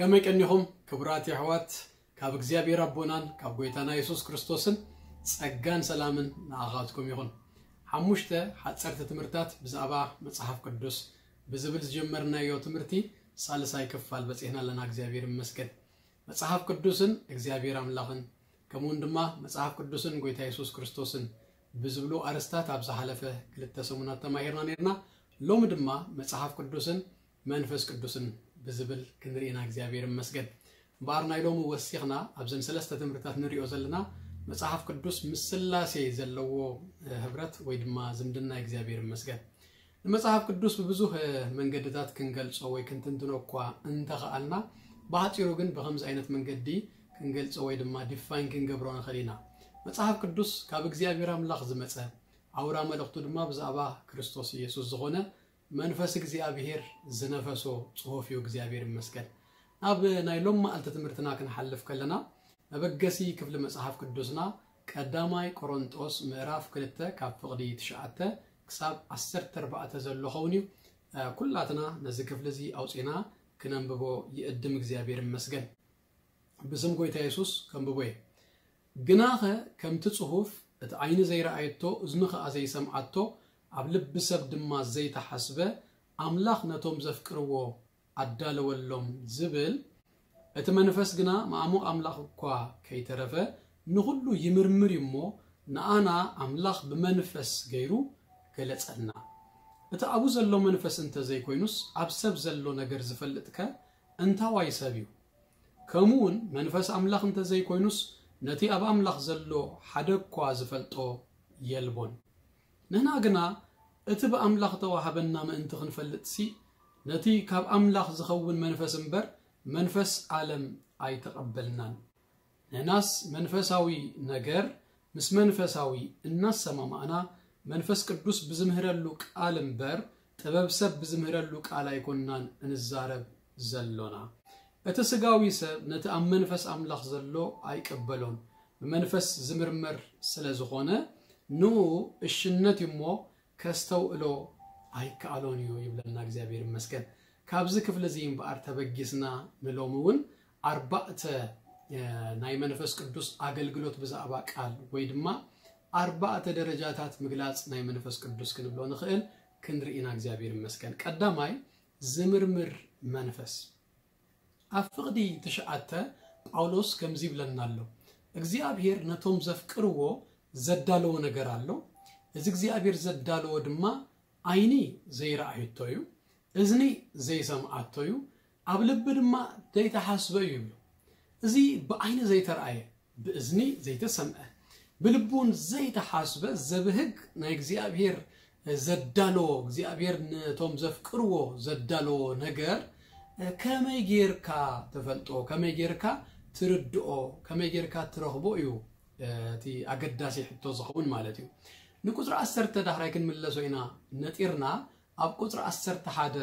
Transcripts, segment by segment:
ከመይ ቀኒኹም ክቡራት የሕዋት? ካብ እግዚኣብሔር ኣቦናን ካብ ጎይታና የሱስ ክርስቶስን ጸጋን ሰላምን ንኣኻትኩም ይኹን። ሓሙሽተ ሓጸርቲ ትምህርታት ብዛዕባ መጽሓፍ ቅዱስ ብዝብል ዝጀመርናዮ ትምህርቲ ሳልሳይ ክፋል በጺሕና ኣለና። እግዚኣብሔር ይመስገን። መጽሓፍ ቅዱስን እግዚኣብሔር ኣምላኽን ከምኡውን ድማ መጽሓፍ ቅዱስን ጎይታ የሱስ ክርስቶስን ብዝብሉ ኣርስታት ኣብ ዝሓለፈ ክልተ ሰሙናት ተማሂርና ነርና። ሎሚ ድማ መጽሓፍ ቅዱስን መንፈስ ቅዱስን ብዝብል ክንርኢና እግዚኣብሔር ይመስገን። እምበኣር ናይ ሎሚ ወሲኽና ኣብዘን ሰለስተ ትምህርትታት ንሪኦ ዘለና መጽሓፍ ቅዱስ ምስ ስላሴ ዘለዎ ህብረት ወይ ድማ ዝምድና እግዚኣብሔር ይመስገን። ንመጽሓፍ ቅዱስ ብብዙህ መንገድታት ክንገልጾ ወይ ክንትንትኖ እኳ እንተኸኣልና፣ ብሓጺሩ ግን ብኸምዚ ዓይነት መንገዲ ክንገልጾ ወይ ድማ ዲፋይን ክንገብሮ ንኽእል ኢና። መጽሓፍ ቅዱስ ካብ እግዚኣብሔር ኣምላኽ ዝመጸ፣ ኣውራ መልእኽቱ ድማ ብዛዕባ ክርስቶስ ኢየሱስ ዝኾነ መንፈስ እግዚኣብሔር ዝነፈሶ ጽሑፍ እዩ። እግዚኣብሔር ይመስገን። ናብ ናይ ሎም መዓልቲ ትምህርትና ክንሓልፍ ከለና፣ መበገሲ ክፍሊ መጽሓፍ ቅዱስና ቀዳማይ ቆሮንጦስ ምዕራፍ ክልተ ካብ ፍቕዲ ትሽዓተ ክሳብ ዓሰርተ ኣርባዕተ ዘሎ ኸውን እዩ። ኩላትና ነዚ ክፍሊ እዚ ኣውጺና ክነንብቦ ይእድም። እግዚኣብሔር ይመስገን። ብስም ጎይታ የሱስ ከንብቦ እየ። ግናኸ ከምቲ ጽሑፍ፣ እቲ ዓይኒ ዘይረኣየቶ፣ እዝኒ ኸኣ ዘይሰምዓቶ፣ ኣብ ልቢ ሰብ ድማ ዘይተሓስበ፣ ኣምላኽ ነቶም ዘፍቅርዎ ኣዳለወሎም ዝብል፣ እቲ መንፈስ ግና መኣሙቕ ኣምላኽ እኳ ከይተረፈ ንኹሉ ይምርምር እዩ እሞ፣ ንኣና ኣምላኽ ብመንፈስ ገይሩ ገለጸልና። እቲ ኣብኡ ዘሎ መንፈስ እንተ ዘይኮይኑስ፣ ኣብ ሰብ ዘሎ ነገር ዝፈልጥከ እንታዋይ ሰብ እዩ? ከምኡ እውን መንፈስ ኣምላኽ እንተ ዘይኮይኑስ፣ ነቲ ኣብ ኣምላኽ ዘሎ ሓደ እኳ ዝፈልጦ የልቦን። ንሕና ግና እቲ ብኣምላኽ ተዋህበና ምእንቲ ክንፈልጥሲ፣ ነቲ ካብ ኣምላኽ ዝኸውን መንፈስ እምበር፣ መንፈስ ዓለም ኣይተቐበልናን። ንሕናስ መንፈሳዊ ነገር ምስ መንፈሳዊ እናሰማማዕና፣ መንፈስ ቅዱስ ብዝምህረሉ ቃል እምበር፣ ጥበብ ሰብ ብዝምህረሉ ቃል ኣይኮንናን እንዛረብ ዘሎና። እቲ ስጋዊ ሰብ ነቲ ኣብ መንፈስ ኣምላኽ ዘሎ ኣይቀበሎን፣ ብመንፈስ ዝምርመር ስለ ዝኾነ፣ ንኡ እሽነት እዩ እሞ፣ ከስተውዕሎ ኣይከኣሎን እዩ ይብለና። እግዚኣብሔር ይመስገን። ካብዚ ክፍሊ እዚ እምበኣር ተበጊስና ንሎሚ እውን ኣርባዕተ፣ እ፣ ናይ መንፈስ ቅዱስ ኣገልግሎት ብዛዕባ ቃል ወይ ድማ ኣርባዕተ ደረጃታት ምግላጽ ናይ መንፈስ ቅዱስ ክንብሎ ንኽእል ክንርኢ ኢና። እግዚኣብሔር ይመስገን። ቀዳማይ፣ ዝምርምር መንፈስ። ኣብ ፍቕዲ ትሽዓተ ጳውሎስ ከምዚ ይብለና ኣሎ፣ እግዚኣብሔር ነቶም ዘፍቅርዎ ዘዳለዎ ነገር ኣሎ። እዚ እግዚኣብሔር ዘዳለዎ ድማ ዓይኒ ዘይረኣየቶ እዩ፣ እዝኒ ዘይሰምዓቶ እዩ፣ ኣብ ልቢ ድማ ዘይተሓስበ እዩ ይብሉ። እዚ ብዓይኒ ዘይተረኣየ፣ ብእዝኒ ዘይተሰምዐ፣ ብልቢ እውን ዘይተሓስበ ዘብህግ ናይ እግዚኣብሔር ዘዳለዎ፣ እግዚኣብሔር ነቶም ዘፍቅርዎ ዘዳለዎ ነገር ከመይ ጌርካ ትፈልጦ፣ ከመይ ጌርካ ትርድኦ፣ ከመይ ጌርካ ትረኽቦ እዩ እቲ ኣገዳሲ ሕቶ ዝኸውን ማለት እዩ። ንቁጽሪ ዓሰርተ ዳሕራይ ክንምለሶ ኢና ነጢርና፣ ኣብ ቁጽሪ ዓሰርተ ሓደ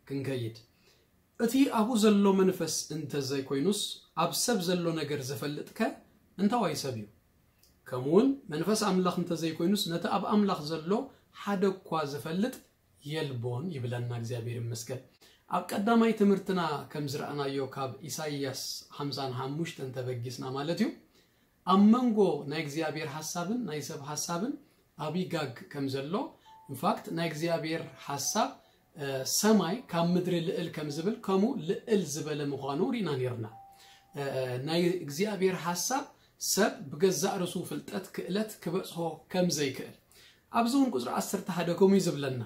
ክንከይድ። እቲ ኣብኡ ዘሎ መንፈስ እንተ ዘይኮይኑስ፣ ኣብ ሰብ ዘሎ ነገር ዝፈልጥከ እንታዋይ ሰብ እዩ? ከምኡውን መንፈስ ኣምላኽ እንተ ዘይኮይኑስ፣ ነቲ ኣብ ኣምላኽ ዘሎ ሓደ እኳ ዝፈልጥ የልቦን ይብለና። እግዚኣብሔር ይመስገን። ኣብ ቀዳማይ ትምህርትና ከም ዝረኣናዮ፣ ካብ ኢሳይያስ ሓምሳን ሓሙሽተን ተበጊስና ማለት እዩ፣ ኣብ መንጎ ናይ እግዚኣብሔር ሓሳብን ናይ ሰብ ሓሳብን ዓብዪ ጋግ ከም ዘሎ፣ ኢንፋክት ናይ እግዚኣብሔር ሓሳብ፣ እ፣ ሰማይ ካብ ምድሪ ልዕል ከም ዝብል፣ ከምኡ ልዕል ዝበለ ምዃኑ ርኢና ነርና። እ፣ ናይ እግዚኣብሔር ሓሳብ ሰብ ብገዛእ ርእሱ ፍልጠት፣ ክእለት ክበጽሖ ከም ዘይክእል። ኣብዚ እውን ቁጽሪ ዓሰርተ ሓደ ከምኡ እዩ ዝብለና።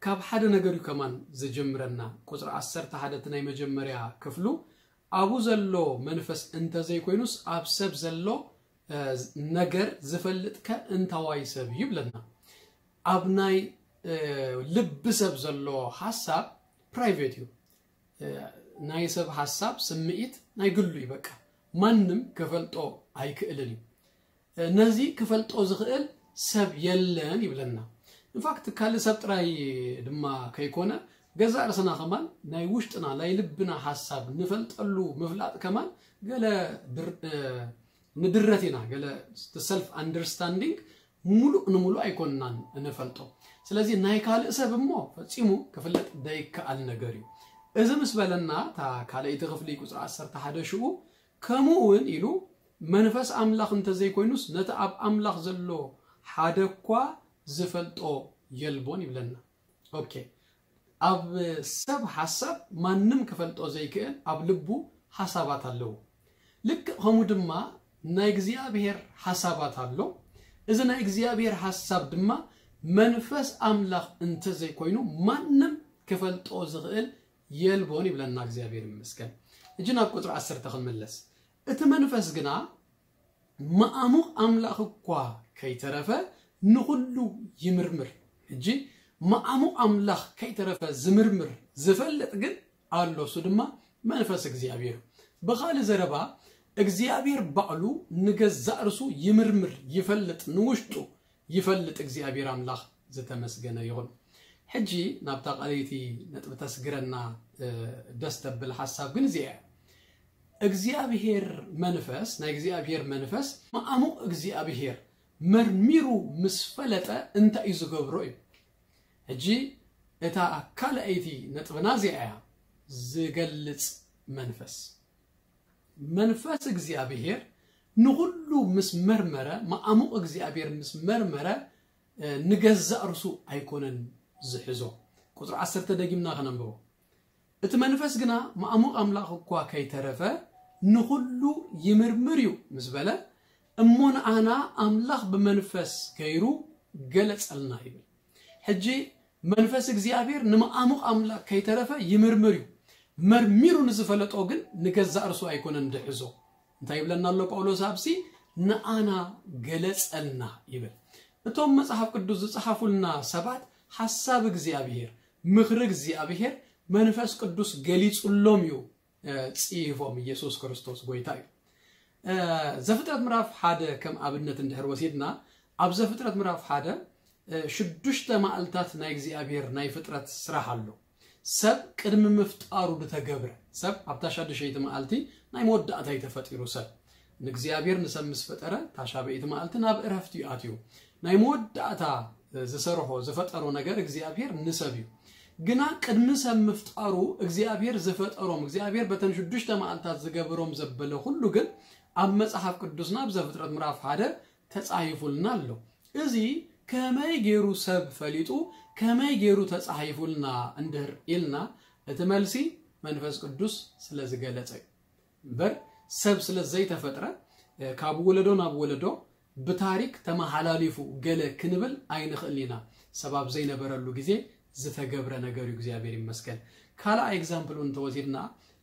ካብ ሓደ ነገር እዩ ከማን ዝጅምረና። ቁጽሪ ዓሰርተ ሓደ እቲ ናይ መጀመርያ ክፍሉ፣ ኣብኡ ዘሎ መንፈስ እንተ ዘይኮይኑስ፣ ኣብ ሰብ ዘሎ፣ እ፣ ነገር ዝፈልጥከ እንታዋይ ሰብ እዩ ይብለና። ኣብ ናይ፣ እ፣ ልቢ ሰብ ዘሎ ሓሳብ ፕራይቬት እዩ። እ፣ ናይ ሰብ ሓሳብ፣ ስምዒት ናይ ግሉ እዩ። በቃ ማንም ክፈልጦ ኣይክእልን እዩ። እ፣ ነዚ ክፈልጦ ዝኽእል ሰብ የለን ይብለና። ኢንፋክት ካልእ ሰብ ጥራይ ድማ ከይኮነ፣ ገዛእ ርእስና ከማን ናይ ውሽጥና ናይ ልብና ሓሳብ ንፈልጠሉ ምፍላጥ ከማን ገለ ድር-፣ እ፣ ንድረት ኢና። ገለ ሰልፍ ኣንደርስታንዲንግ ሙሉእ ንሙሉእ ኣይኮንናን እንፈልጦ። ስለዚ ናይ ካልእ ሰብ እሞ ፈጺሙ ክፍለጥ ዘይከኣል ነገር እዩ። እዚ ምስ በለና፣ እታ ካልኣይቲ ክፍሊ ቁፅሪ ዓሰርተ ሓደ ሽኡ፣ ከምኡ እውን ኢሉ፣ መንፈስ ኣምላኽ እንተዘይኮይኑስ ነቲ ኣብ ኣምላኽ ዘሎ ሓደ እኳ ዝፈልጦ የልቦን ይብለና። ኦኬ፣ ኣብ ሰብ ሓሳብ ማንም ክፈልጦ ዘይክእል ኣብ ልቡ ሓሳባት ኣለዎ። ልክእ ከምኡ ድማ ናይ እግዚኣብሔር ሓሳባት ኣሎ። እዚ ናይ እግዚኣብሔር ሓሳብ ድማ መንፈስ ኣምላኽ እንተዘይኮይኑ ማንም ክፈልጦ ዝኽእል የልቦን ይብለና እግዚኣብሔር ይመስገን። እጂ ናብ ቁፅሪ ዓሰርተ ክንምለስ። እቲ መንፈስ ግና መኣሙቕ ኣምላኽ እኳ ከይተረፈ ንኹሉ ይምርምር። እጂ መኣሙቕ ኣምላኽ ከይተረፈ ዝምርምር ዝፈልጥ ግን ኣሎ፣ እሱ ድማ መንፈስ እግዚኣብሔር። ብኻልእ ዘረባ እግዚኣብሔር ባዕሉ ንገዛእ ርሱ ይምርምር፣ ይፈልጥ፣ ንውሽጡ ይፈልጥ እግዚኣብሔር ኣምላኽ ዝተመስገነ ይኹን። ሕጂ ናብታ ቀለይቲ ነጥቢ ተስግረና ደስ ተብል ሓሳብ ግን እዚኣ እግዚኣብሔር መንፈስ ናይ እግዚኣብሔር መንፈስ መኣሙቕ እግዚኣብሔር መርሚሩ ምስ ፈለጠ እንታይ እዩ ዝገብሮ እዩ። ሕጂ እታ ካልኣይቲ ነጥብና እዚኣ እያ፣ ዝገልጽ መንፈስ። መንፈስ እግዚኣብሔር ንኹሉ ምስ መርመረ፣ መኣሙቕ እግዚኣብሔር ምስ መርመረ፣ ንገዛእ ርሱ ኣይኮነን ዝሕዞ። ቁፅሪ ዓሰርተ ደጊምና ከነንብቦ። እቲ መንፈስ ግና መኣሙቕ ኣምላኽ እኳ ከይተረፈ ንኹሉ ይምርምር እዩ ምስ በለ፣ እሞ ንኣና ኣምላኽ ብመንፈስ ገይሩ ገለጸልና ይብል። ሕጂ መንፈስ እግዚኣብሔር ንመኣሙቕ ኣምላኽ ከይተረፈ ይምርምር እዩ። መርሚሩ ንዝፈለጦ ግን ንገዛእ ርሱ ኣይኮነን ድሕዞ። እንታይ ይብለና ኣሎ ጳውሎስ ኣብዚ? ንኣና ገለጸልና ይብል። እቶም መጽሓፍ ቅዱስ ዝጸሓፉልና ሰባት ሓሳብ እግዚኣብሔር፣ ምኽሪ እግዚኣብሔር መንፈስ ቅዱስ ገሊጹሎም እዩ ጽሒፎም። ኢየሱስ ክርስቶስ ጎይታ እዩ። ዘፍጥረት ምዕራፍ ሓደ ከም ኣብነት እንድሕር ወሲድና፣ ኣብ ዘፍጥረት ምዕራፍ ሓደ ሽዱሽተ መዓልታት ናይ እግዚኣብሔር ናይ ፍጥረት ስራሕ ኣሎ። ሰብ ቅድሚ ምፍጣሩ ዝተገብረ፣ ሰብ ኣብታ ሻድሸይቲ መዓልቲ ናይ መወዳእታ እዩ ተፈጢሩ። ሰብ ንእግዚኣብሔር ንሰብ ምስ ፈጠረ፣ እታ ሻበይቲ መዓልቲ ናብ እረፍቲ እዩ ኣትዩ። ናይ መወዳእታ ዝሰርሖ ዝፈጠሮ ነገር እግዚኣብሔር ንሰብ እዩ። ግና ቅድሚ ሰብ ምፍጣሩ እግዚኣብሔር ዝፈጠሮም፣ እግዚኣብሔር በተን ሽዱሽተ መዓልታት ዝገበሮም ዘበለ ኩሉ ግን ኣብ መጽሓፍ ቅዱስና ኣብ ዘፍጥረት ምዕራፍ ሓደ ተጻሂፉልና ኣሎ። እዚ ከመይ ገይሩ ሰብ ፈሊጡ፣ ከመይ ገይሩ ተጻሂፉልና እንድህር ኢልና፣ እቲ መልሲ መንፈስ ቅዱስ ስለ ዝገለጸ እዩ። እምበር ሰብ ስለ ዘይተፈጥረ፣ ካብ ወለዶ ናብ ወለዶ ብታሪክ ተመሓላሊፉ ገለ ክንብል ኣይንኽእል ኢና። ሰብ ኣብ ዘይነበረሉ ግዜ ዝተገብረ ነገር እዩ፣ እግዚኣብሔር ይመስገን። ካልኣይ ኤግዛምፕል እውን እንተወሲድና፣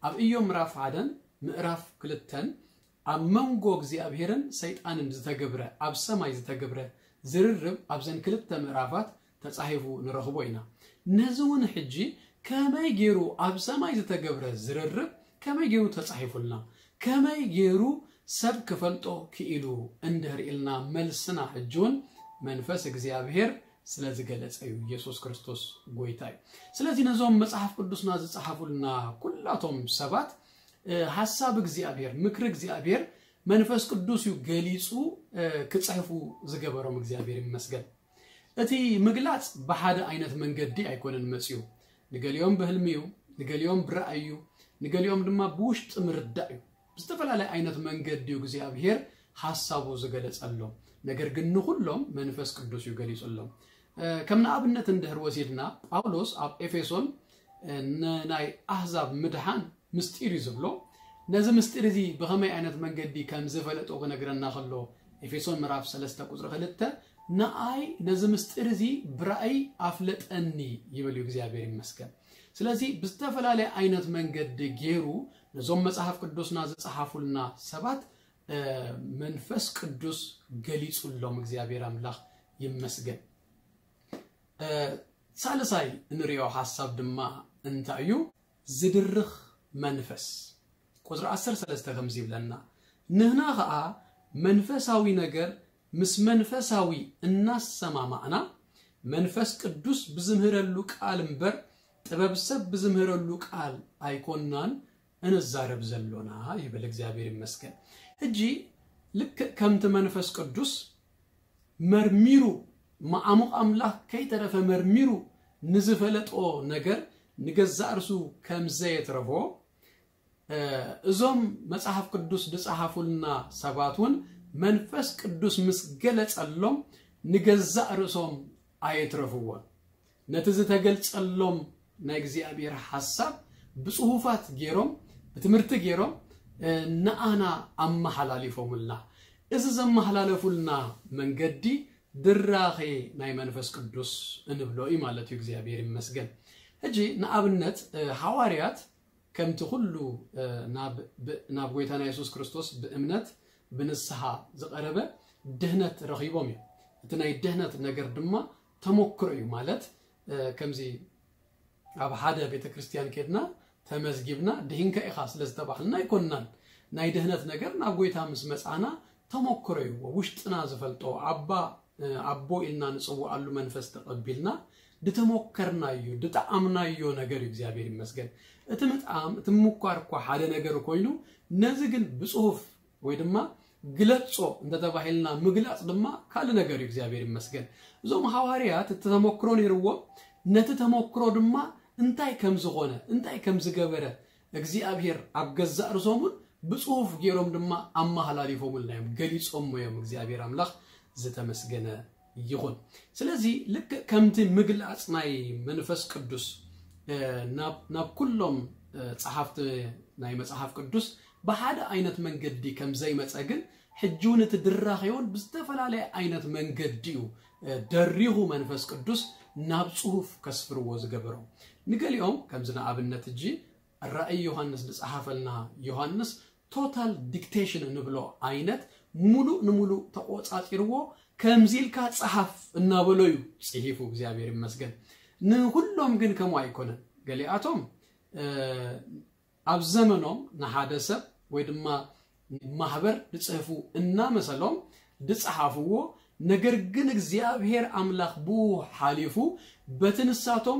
ኣብ እዮም ምዕራፍ ሓደን ምዕራፍ ክልተን ኣብ መንጎ እግዚኣብሔርን ሰይጣንን ዝተገብረ፣ ኣብ ሰማይ ዝተገብረ ዝርርብ ኣብዘን ክልተ ምዕራፋት ተጻሒፉ ንረኽቦ ኢና። ነዚ እውን ሕጂ ከመይ ገይሩ ኣብ ሰማይ ዝተገብረ ዝርርብ ከመይ ገይሩ ተጻሒፉልና፣ ከመይ ገይሩ ሰብ ክፈልጦ ክኢሉ እንድህር ኢልና፣ መልስና ሕጂ እውን መንፈስ እግዚኣብሔር ስለ ዝገለጸ እዩ። ኢየሱስ ክርስቶስ ጎይታ እዩ። ስለዚ ነዞም መጽሓፍ ቅዱስና ዝጸሓፉልና ኩላቶም ሰባት፣ እ፣ ሓሳብ እግዚኣብሔር፣ ምክሪ እግዚኣብሔር መንፈስ ቅዱስ እዩ ገሊጹ፣ እ፣ ክጽሕፉ ዝገበሮም። እግዚኣብሔር ይመስገን። እቲ ምግላጽ ብሓደ ዓይነት መንገዲ ኣይኮነን መጺኡ። ንገሊኦም ብህልሚ እዩ፣ ንገሊኦም ብራእይ እዩ፣ ንገሊኦም ድማ ብውሽጢ ምርዳእ እዩ። ብዝተፈላለየ ዓይነት መንገዲ እዩ እግዚኣብሔር ሓሳቡ ዝገለጸሎም። ነገር ግን ንኹሎም መንፈስ ቅዱስ እዩ ገሊጹሎም። እ፣ ከም ንኣብነት እንድሕር ወሲድና፣ ጳውሎስ ኣብ ኤፌሶን፣ እ፣ ንናይ ኣህዛብ ምድሓን ምስጢር እዩ ዝብሎ። ነዚ ምስጢር እዚ ብኸመይ ዓይነት መንገዲ ከም ዝፈለጦ ክነግረና ከሎ፣ ኤፌሶን ምዕራፍ ሰለስተ ቁጽሪ ክልተ፣ "ንኣይ ነዚ ምስጢር እዚ ብራእይ ኣፍለጠኒ" ይብል እዩ። እግዚኣብሔር ይመስገን። ስለዚ ብዝተፈላለየ ዓይነት መንገዲ ገይሩ ነዞም መጽሓፍ ቅዱስና ዝጸሓፉልና ሰባት፣ እ፣ መንፈስ ቅዱስ ገሊጹሎም። እግዚኣብሔር ኣምላኽ ይመስገን። እ፣ ሳልሳይ እንሪኦ ሓሳብ ድማ እንታይ እዩ? ዝድርኽ መንፈስ። ቁጽሪ ዓሰርተ ሰለስተ ከምዚ ይብለና፣ "ንህና ኸኣ መንፈሳዊ ነገር ምስ መንፈሳዊ እናሰማማዕና፣ መንፈስ ቅዱስ ብዝምህረሉ ቃል እምበር፣ ጥበብ ሰብ ብዝምህረሉ ቃል ኣይኮናን እንዛረብ ዘሎና" ይብል። እግዚኣብሔር ይመስገን። ሕጂ ልክእ ከምቲ መንፈስ ቅዱስ መርሚሩ፣ መዓሙቕ ኣምላኽ ከይተረፈ መርሚሩ ንዝፈለጦ ነገር፣ ንገዛእ ርሱ ከም ዘየትረፎ፣ እዞም መጽሓፍ ቅዱስ ዝጸሓፉልና ሰባት እውን መንፈስ ቅዱስ ምስ ገለጸሎም ንገዛእ ርእሶም ኣየትረፍዎን። ነቲ ዝተገልጸሎም ናይ እግዚኣብሔር ሓሳብ ብጽሑፋት ገይሮም፣ ብትምህርቲ ገይሮም ንኣና ኣመሓላሊፎምልና። እዚ ዘመሓላለፉልና መንገዲ ድራኼ ናይ መንፈስ ቅዱስ እንብሎ እዩ ማለት እዩ። እግዚኣብሔር ይመስገን። ሕጂ ንኣብነት፣ እ፣ ሃዋርያት ከምቲ ኩሉ፣ እ፣ ናብ፣ ብ-፣ ናብ ጎይታና የሱስ ክርስቶስ ብእምነት ብንስሓ ዝቐረበ ድህነት ረኺቦም እዮም። እቲ ናይ ድህነት ነገር ድማ ተመክሮ እዩ ማለት፣ እ፣ ከምዚ ኣብ ሓደ ቤተ ክርስቲያን ኬድና ተመዝጊብና ድሂንካ ኢኻ ስለ ዝተባህልና ኣይኮንናን። ናይ ድህነት ነገር ናብ ጎይታ ምስ መጻና ተመክሮ እዩ። ውሽጥና ዝፈልጦ ኣባ፣ እ፣ ኣቦ ኢልና ንጽውዓሉ መንፈስ ተቐቢልና ድተመከርናዮ፣ ድጠዓምናዮ ነገር እዩ። እግዚኣብሔር ይመስገን። እቲ ምጥዓም፣ እቲ ምኳር እኳ ሓደ ነገር ኮይኑ፣ ነዚ ግን ብጽሑፍ ወይ ድማ ግለጾ እንተተባሂልና ምግላጽ ድማ ካልእ ነገር እዩ። እግዚኣብሔር ይመስገን። እዞም ሃዋርያት እቲ ተመክሮ ነይርዎም፣ ነቲ ተመክሮ ድማ እንታይ ከም ዝኾነ፣ እንታይ ከም ዝገበረ እግዚኣብሔር ኣብ ገዛእ ርእሶም እውን ብጽሑፍ ገይሮም ድማ ኣመሃላሊፎምልና እዮም፣ ገሊጾሞ እዮም። እግዚኣብሔር ኣምላኽ ዝተመስገነ ይኹን። ስለዚ ልክዕ ከምቲ ምግላጽ ናይ መንፈስ ቅዱስ፣ እ፣ ናብ፣ ናብ ኩሎም፣ እ፣ ጸሓፍቲ ናይ መጽሓፍ ቅዱስ ብሓደ ዓይነት መንገዲ ከም ዘይመጸ ግን ሕጂ እውን እቲ ድራኼ እውን ብዝተፈላለየ ዓይነት መንገዲ እዩ፣ እ፣ ደሪኹ መንፈስ ቅዱስ ናብ ጽሑፍ ከስፍርዎ ዝገበሮ። ንገሊኦም ከምዚ ንኣብነት ሕጂ ራእይ ዮሃንስ ዝጸሓፈልና ዮሃንስ ቶታል ዲክቴሽን እንብሎ ዓይነት ሙሉእ ንሙሉእ ተቆጻጺርዎ ከምዚ ኢልካ ጸሓፍ እናበሎ እዩ ጽሒፉ። እግዚኣብሔር ይመስገን። ንኹሎም ግን ከምኡ ኣይኮነን። ገሊኣቶም፣ እ፣ ኣብ ዘመኖም ንሓደ ሰብ ወይ ድማ ማህበር ዝጽሕፉ እናመሰሎም ዝጸሓፍዎ፣ ነገር ግን እግዚኣብሔር ኣምላኽ ብኡ ሓሊፉ በቲ ንሳቶም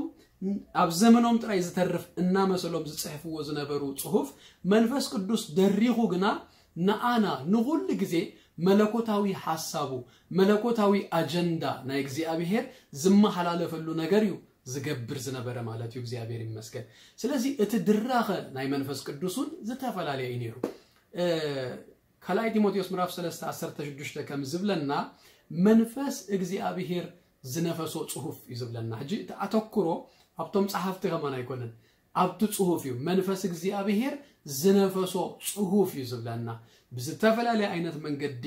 ኣብ ዘመኖም ጥራይ ዝተርፍ እናመሰሎም ዝጽሕፍዎ ዝነበሩ ጽሑፍ መንፈስ ቅዱስ ደሪኹ ግና ንኣና ንኹሉ ግዜ መለኮታዊ ሓሳቡ፣ መለኮታዊ ኣጀንዳ ናይ እግዚኣብሔር ዝመሓላለፈሉ ነገር እዩ ዝገብር ዝነበረ ማለት እዩ። እግዚኣብሔር ይመስገን። ስለዚ እቲ ድራኸ ናይ መንፈስ ቅዱስ እውን ዝተፈላለየ እዩ ነይሩ። እ፣ ካልኣይ ጢሞቴዎስ ምዕራፍ ሰለስተ ዓሰርተ ሽዱሽተ ከም ዝብለና መንፈስ እግዚኣብሔር ዝነፈሶ ጽሑፍ እዩ ዝብለና። ሕጂ እቲ ኣተኩሮ ኣብቶም ጸሓፍቲ ከማን ኣይኮነን፣ ኣብቲ ጽሑፍ እዩ። መንፈስ እግዚኣብሔር ዝነፈሶ ጽሑፍ እዩ ዝብለና። ብዝተፈላለየ ዓይነት መንገዲ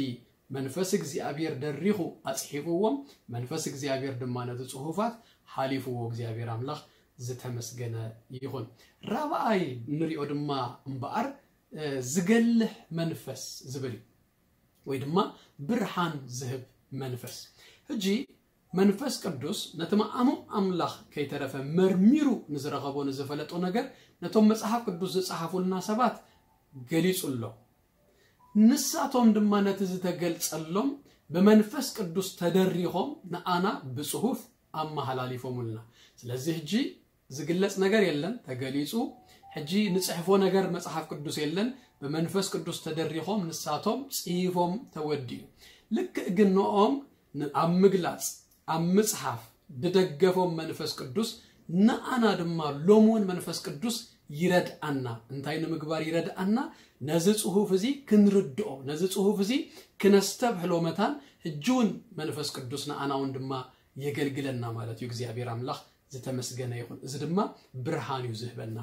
መንፈስ እግዚኣብሔር ደሪኹ ኣጽሒፍዎም፣ መንፈስ እግዚኣብሔር ድማ ነቲ ጽሑፋት ሓሊፍዎ። እግዚኣብሔር ኣምላኽ ዝተመስገነ ይኹን። ራብኣይ ንሪኦ ድማ እምበኣር፣ እ፣ ዝገልሕ መንፈስ ዝብል እዩ፣ ወይ ድማ ብርሃን ዝህብ መንፈስ። ሕጂ መንፈስ ቅዱስ ነቲ መኣሙ ኣምላኽ ከይተረፈ መርሚሩ ንዝረኸቦ ንዝፈለጦ ነገር ነቶም መጽሓፍ ቅዱስ ዝጸሓፉልና ሰባት ገሊጹ ኣሎ። ንሳቶም ድማ ነቲ ዝተገልጸሎም ብመንፈስ ቅዱስ ተደሪኾም ንኣና ብጽሑፍ ኣመሃላሊፎምልና። ስለዚ ሕጂ ዝግለጽ ነገር የለን፣ ተገሊጹ። ሕጂ ንጽሕፎ ነገር መጽሓፍ ቅዱስ የለን፣ ብመንፈስ ቅዱስ ተደሪኾም ንሳቶም ጽሒፎም ተወዲኡ። ልክዕ ግን ንኦም ን-፣ ኣብ ምግላጽ፣ ኣብ ምጽሓፍ ድደገፎም መንፈስ ቅዱስ ንኣና ድማ ሎሚ እውን መንፈስ ቅዱስ ይረድኣና። እንታይ ንምግባር ይረድኣና? ነዚ ጽሑፍ እዚ ክንርድኦ፣ ነዚ ጽሑፍ እዚ ክነስተብህሎ መታን ሕጂ እውን መንፈስ ቅዱስ ንኣና እውን ድማ የገልግለና ማለት እዩ። እግዚኣብሔር ኣምላኽ ዝተመስገነ ይኹን። እዚ ድማ ብርሃን እዩ ዝህበና።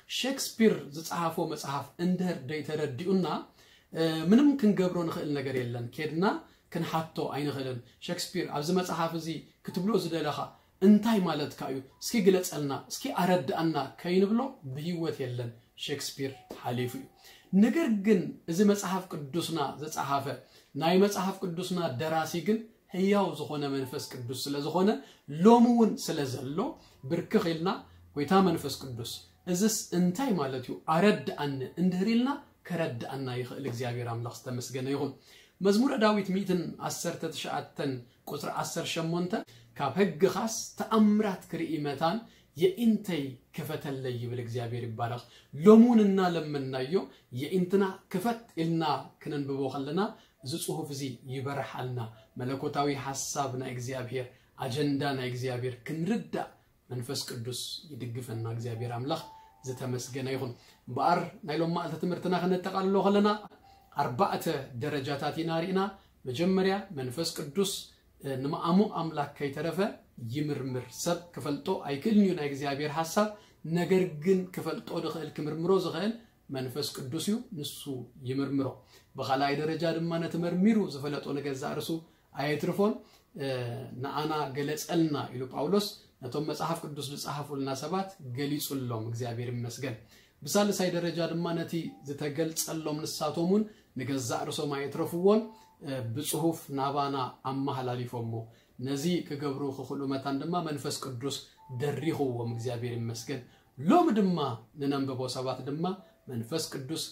ሼክስፒር ዝጸሓፎ መጽሓፍ እንድህር ደይተረዲኡና፣ እ፣ ምንም ክንገብሮ ንኽእል ነገር የለን። ኬድና ክንሓቶ ኣይንኽእልን። ሼክስፒር፣ ኣብዚ መጽሓፍ እዚ ክትብሎ ዝደለኻ እንታይ ማለትካ እዩ? እስኪ ግለጸልና፣ እስኪ ኣረድኣና ከይንብሎ ብህይወት የለን። ሼክስፒር ሓሊፉ እዩ። ነገር ግን እዚ መጽሓፍ ቅዱስና ዝጸሓፈ ናይ መጽሓፍ ቅዱስና ደራሲ ግን ህያው ዝኾነ መንፈስ ቅዱስ ስለ ዝኾነ፣ ሎሚ እውን ስለ ዘሎ፣ ብርክኽ ኢልና፣ "ጎይታ መንፈስ ቅዱስ፣ እዝስ እንታይ ማለት እዩ? ኣረድኣኒ" እንድህር ኢልና፣ ከረድኣና ይኽእል። እግዚኣብሔር ኣምላኽ ዝተመስገነ ይኹን። መዝሙረ ዳዊት ሚእትን ዓሰርተ ትሽዓተን ቁጽሪ ዓሰርተ ሸሞንተ፣ "ካብ ሕግኻስ ተኣምራት ክርኢ መታን የኢንተይ ክፈተለይ" ይብል። እግዚኣብሔር ይባረኽ። ሎሚ እውን እናለመንናዮ የኢንትና ክፈት ኢልና ክነንብቦ ከለና፣ እዚ ጽሑፍ እዚ ይበርሓልና። መለኮታዊ ሓሳብ ናይ እግዚኣብሔር፣ ኣጀንዳ ናይ እግዚኣብሔር ክንርዳእ መንፈስ ቅዱስ ይድግፈና። እግዚኣብሔር ኣምላኽ ዝተመስገነ ይኹን። እምበኣር ናይ ሎም መዓልቲ ትምህርትና ክነጠቓልሎ ከለና ኣርባዕተ ደረጃታት ኢና ርኢና። መጀመርያ መንፈስ ቅዱስ ንምኣሙ ኣምላክ ከይተረፈ ይምርምር። ሰብ ክፈልጦ ኣይክእልን እዩ ናይ እግዚኣብሔር ሓሳብ፣ ነገር ግን ክፈልጦ ዝኽእል ክምርምሮ ዝኽእል መንፈስ ቅዱስ እዩ፣ ንሱ ይምርምሮ። ብኻልኣይ ደረጃ ድማ ነቲ መርሚሩ ዝፈለጦ ንገዛእ ርእሱ ኣየትርፎን። ንኣና ገለጸልና ኢሉ ጳውሎስ ነቶም መጽሓፍ ቅዱስ ዝጸሓፉልና ሰባት ገሊጹሎም፣ እግዚኣብሔር ይመስገን። ብሳልሳይ ደረጃ ድማ ነቲ ዝተገልጸሎም ንሳቶም እውን ንገዛእ ርእሶም ኣየትረፍዎን፣ ብጽሑፍ ናባና ኣመሓላሊፎሞ። ነዚ ክገብሩ ክኽእሉ መታን ድማ መንፈስ ቅዱስ ደሪኽዎም፣ እግዚኣብሔር ይመስገን። ሎም ድማ ንነንብቦ ሰባት ድማ መንፈስ ቅዱስ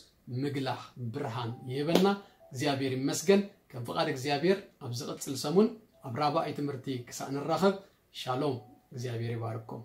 ምግላኽ ብርሃን ይህበና። እግዚኣብሔር ይመስገን። ከም ፍቓድ እግዚኣብሔር ኣብ ዝቕጽል ሰሙን ኣብ ራብኣይ ትምህርቲ ክሳእ ንራኸብ፣ ሻሎም፣ እግዚኣብሔር ይባርኩም።